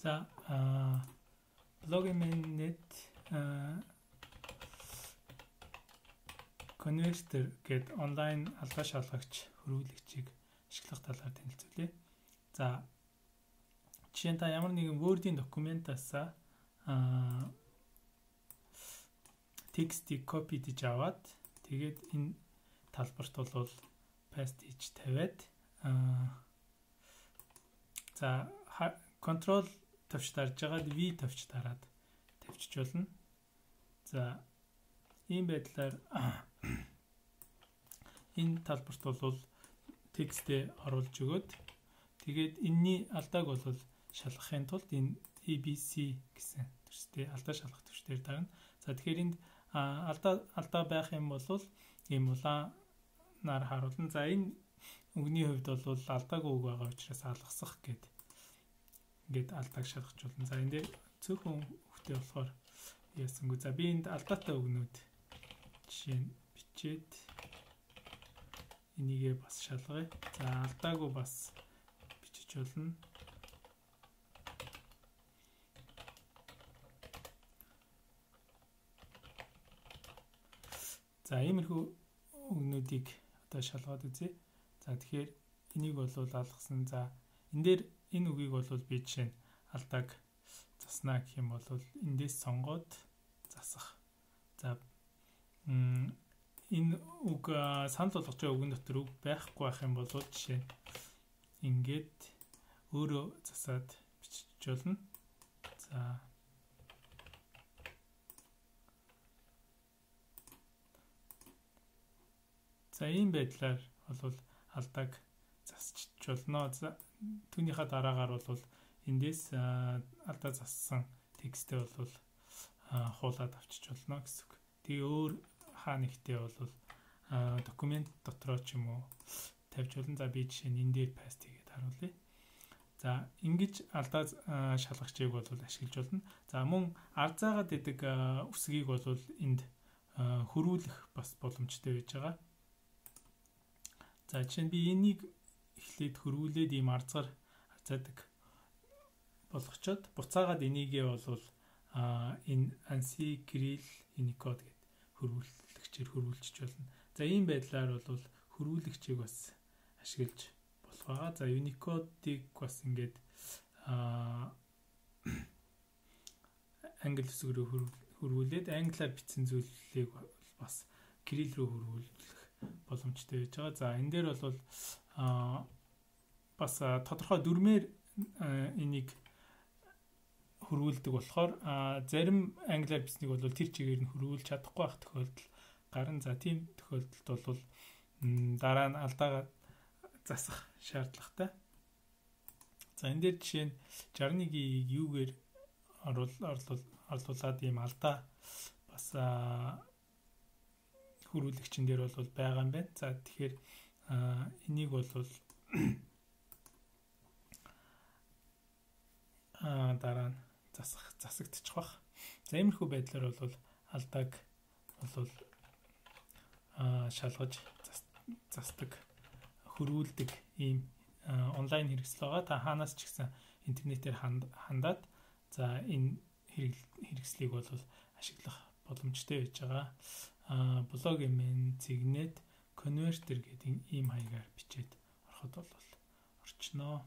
За blog-net Converter гээд онлайн алгаа шалгагч хөрвүүлэгчийг ашиглах талаар танилцуулъя. За жишээ нь та ямар нэгэн Word-ийн документаас текстийг копи хийж аваад тэгээд энэ талбарт бол paste хийж тавиад за control төвч дарж байгаад V төвч дараад тавьчих болно. За ийм байдлаар энэ талбарт бол текстээ оруулж өгөөд тэгээд энэний алдааг бол шалгахын тулд энэ ABC гэсэн төстэй алдаа шалгах төвчээр дарна. За тэгэхээр энд алдаа байх юм бол ийм улаанаар харуулна. За энэ үгний хувьд бол алдаагүй үг байгаа учраас алгасах ингээд алдааг шалгах болно. За энэ дээр цөөхөн хөвтэй болохоор яасангүй. За би энд алдаатай үгнүүд жишээ нь бичээд энийгээ бас шалгая. За алдаагүй бас бичиж болно. За иймэрхүү үгнүүдийг одоо шалгаад үзье. За тэгэхээр энийг бол алгасан. За энэ дээр энэ үгийг бол би жишээ нь алдааг заснаа гэх юм бол эндээс сонгоод засах. За энэ үг санал болгож байгаа үгэн дотор үг байхгүй байх юм бол жишээ нь ингээд өөрөө засаад бичиж болно. За ийм байдлаар бол алдааг засчих болно. За түүнийхээ дараагаар бол эндээс алдаа зассан текстээ бол хуулаад авчиж болно гэсэн үг. Тэгээ өөр хаа нэгтээ бол документ дотроо ч юм уу тавьж болно. За би жишээ нь энэ дээр paste хийгээд харуулъя. За ингэж алдаа шалгагчийг бол ашиглаж болно. За мөн ард заагаад идэг үсгийг бол энд хөрвүүлэх бас боломжтой байж байгаа. За жишээ нь би энийг эхлээд хөрвүүлээд ийм арзгаар арзаадаг болгочоод буцаагаад энийгээ бол энэ ANSI Kirill Unicode гэд хөрвүүлэгчээр хөрвүүлчих болно. За ийм байдлаар бол хөрвүүлэгчийг бас ашиглаж болох байгаа. За Unicode-ийг бас ингээд англи үсгээр хөрвүүлээд англиар бичсэн зүйлийг бас Kirill руу хөрвүүлэх боломжтой байж байгаа. За энэ дээр бол бас тодорхой дүрмээр энийг хөрвүүлдэг болохоор зарим англиар бичснийг бол тэр чигээр нь хөрвүүлж чадахгүй байх тохиолдол гарна. За тийм тохиолдолд бол дараа нь алдаагаа засах шаардлагатай. За энэ дээр жишээ нь 61-ийг юугээр орлуулад ийм алдаа бас хөрвүүлэгчэн дээр бол байгаа юм байна. За тэгэхээр энийг бол дараа нь засагдчих бах. За иймэрхүү байдлаар бол алдааг бол шалгаж засдаг, хөрвүүлдэг ийм онлайн хэрэгсэл байгаа. Та хаанаас ч гэсэн интернетээр хандаад за энэ хэрэгслийг бол ашиглах боломжтой байж байгаа. Blog-ийн Cygnet Converter гэдэг ийм хаягаар бичээд ороход бол орчноо.